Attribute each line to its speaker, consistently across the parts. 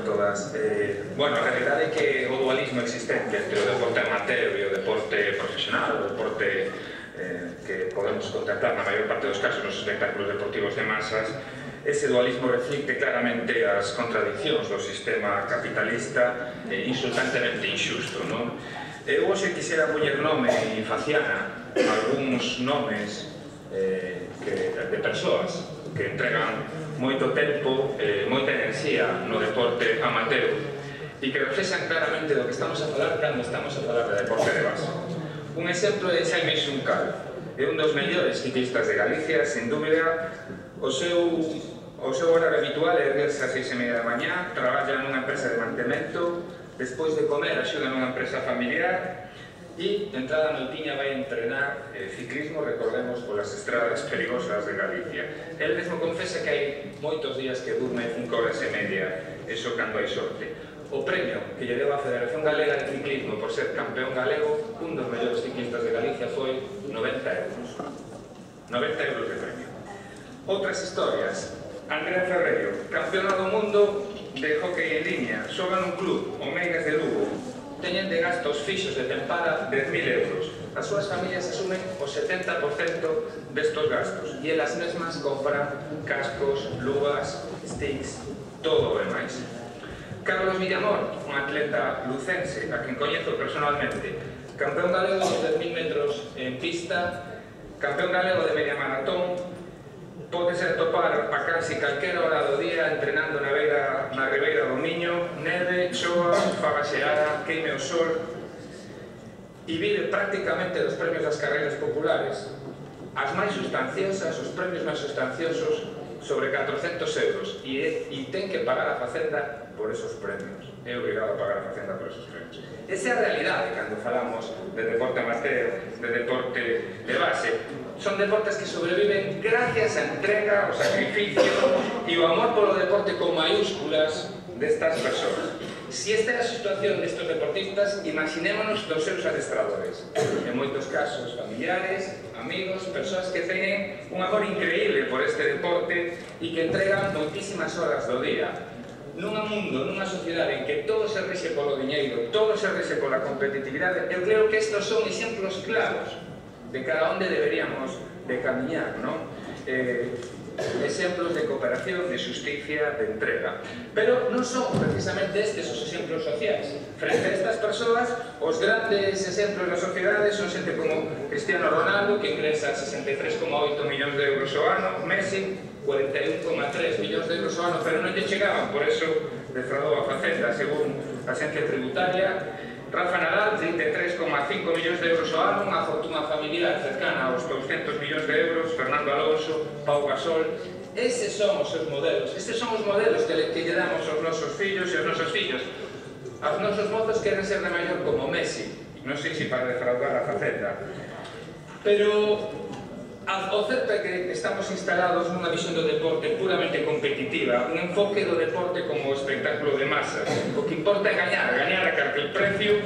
Speaker 1: todas. Bueno, a realidade é que o dualismo existente entre o deporte amateur e o deporte profesional, o deporte que podemos contemplar na maior parte dos casos nos espectáculos deportivos de masas, ese dualismo reflicte claramente as contradiccións do sistema capitalista insultantemente injusto, non? Eu hoxe quixera poñer nome e faciana algúns nomes de persoas que entregan moito tempo, moita enerxía no deporte amateur e que reflexan claramente do que estamos a falar cando estamos a falar de deporte de base. Un exemplo é Xaime Xuncal, é un dos mellores ciclistas de Galicia, sen dúbida. O seu horario habitual é erguerse a 6:30 da mañá, traballa nunha empresa de mantemento, despois de comer axuda nunha empresa familiar e, entrada a noitiña, vai entrenar ciclismo, recordemos, polas estradas perigosas de Galicia. El mesmo confesa que hai moitos días que durme 5 horas e media, eso cando hai sorte. O premio que lle deu a Federación Galega de Ciclismo por ser campeón galego, un dos mellores ciclistas de Galicia, foi 90 euros. 90 euros de premio. Outras historias. Andrea Ferreiro, campeona do mundo de hockey en línea, xoga nun club, o Meigas de Lugo. Teñen de gastos fixos de tempada 10.000 euros. As súas familias asumen o 70% destos gastos e elas mesmas compran cascos, luvas, sticks, todo o demais. Carlos Villamor, un atleta lucense a quen coñezo personalmente, campeón galego de 10.000 metros en pista, campeón galego de media maratón, podes atopar a casi calquera hora do día entrenando na ribeira do Miño, neve, choa, fagaxeada, queime o sol, e vive prácticamente dos premios das carreiras populares. As máis sustanciosas, os premios máis sustanciosos, sobre 400 euros, e ten que pagar a Facenda por esos premios. É obrigado a pagar a Facenda por esos premios. Esa é a realidade cando falamos de deporte amateur, de deporte de base. Son deportes que sobreviven gracias á entrega, ao sacrificio e ao amor polo deporte con mayúsculas destas persoas. Si esta é a situación destes deportistas, imaginémonos dos seus adestradores. En moitos casos familiares, amigos, persoas que teñen un amor increíble por este deporte e que entregan moitísimas horas do día. Nun mundo, nunha sociedade en que todo se rexe polo diñeiro, todo se rexe pola competitividade, eu creo que estes son exemplos claros de cada onde deberíamos de camiñar, non? Exemplos de cooperación, de justicia, de entrega. Pero non son precisamente estes os exemplos sociais. Frente a estas persoas, os grandes exemplos da sociedade son xente como Cristiano Ronaldo, que ingresa 63,8 millóns de euros ao ano, Messi, 41,3 millóns de euros ao ano, pero non lle chegaban, por eso defraudou a Facenda, según a Agencia Tributaria. Rafa Nadal, 33,5 millóns de euros ao ano, unha fortuna familiar cercana aos 200 millóns de euros, Fernando Alonso, Pau Gasol. Eses son os seus modelos, estes son os modelos que lle damos aos nosos fillos e aos nosos fillos. Aos nosos mozos queren ser de maior como Messi, non sei se para defraudar a Facenda. Pero o certo é que estamos instalados nunha visión do deporte puramente competitiva, un enfoque do deporte como espectáculo de masas. O que importa é gañar a calquer precio,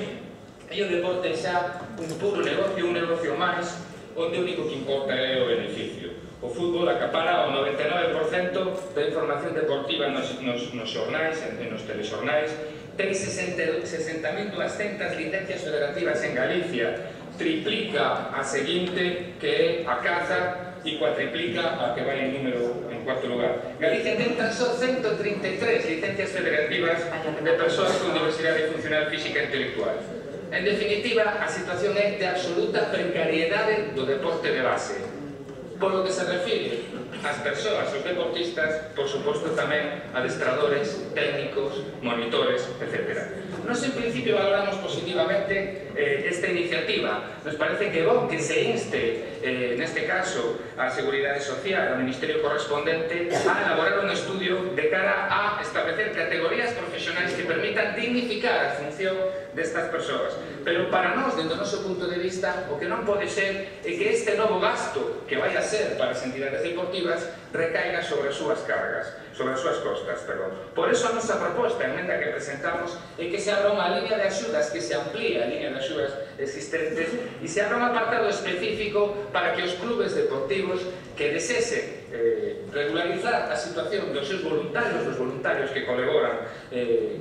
Speaker 1: e o deporte é xa un puro negocio, un negocio máis, onde o único que importa é o beneficio. O fútbol acapara o 99% da información deportiva nos xornais, nos telexornais, ten 60.200 licencias federativas en Galicia, triplica a seguinte, que é a caza, e cuatriplica a que vai en número en cuarto lugar. Galicia ten tan só 133 licencias federativas de persoas con diversidade funcional física e intelectual. En definitiva, a situación é de absoluta precariedade do deporte de base. Polo que se refire ás persoas, os deportistas, por suposto tamén adestradores, técnicos, monitores, etc. Nos en principio valoramos positivamente esta iniciativa. Nos parece que é bom que se inste, neste caso, a Seguridade Social, ao Ministerio correspondente, a elaborar un estudio de cara a establecer categorías profesionais que permitan dignificar a función destas persoas. Pero para nós, dentro do noso punto de vista, o que non pode ser é que este novo gasto que vai a ser para as entidades deportivas deportivas recaiga sobre as súas cargas, sobre as súas costas, perdón. Por eso a nosa proposta, a emenda que presentamos, é que se abra unha línea de axudas, que se amplíe a línea de axudas existentes e se abra un apartado específico para que os clubes deportivos que desesen regularizar a situación dos seus voluntarios, dos voluntarios que colaboran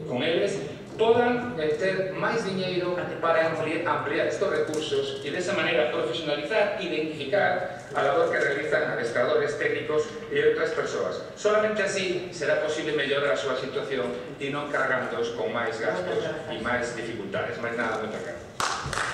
Speaker 1: con eles, podan ter máis diñeiro para ampliar estes recursos e desa maneira profesionalizar e identificar a labor que realizan adestradores técnicos e outras persoas. Solamente así será posible mellorar a súa situación e non cargándoos con máis gastos e máis dificultades. Máis nada, moitas gracias.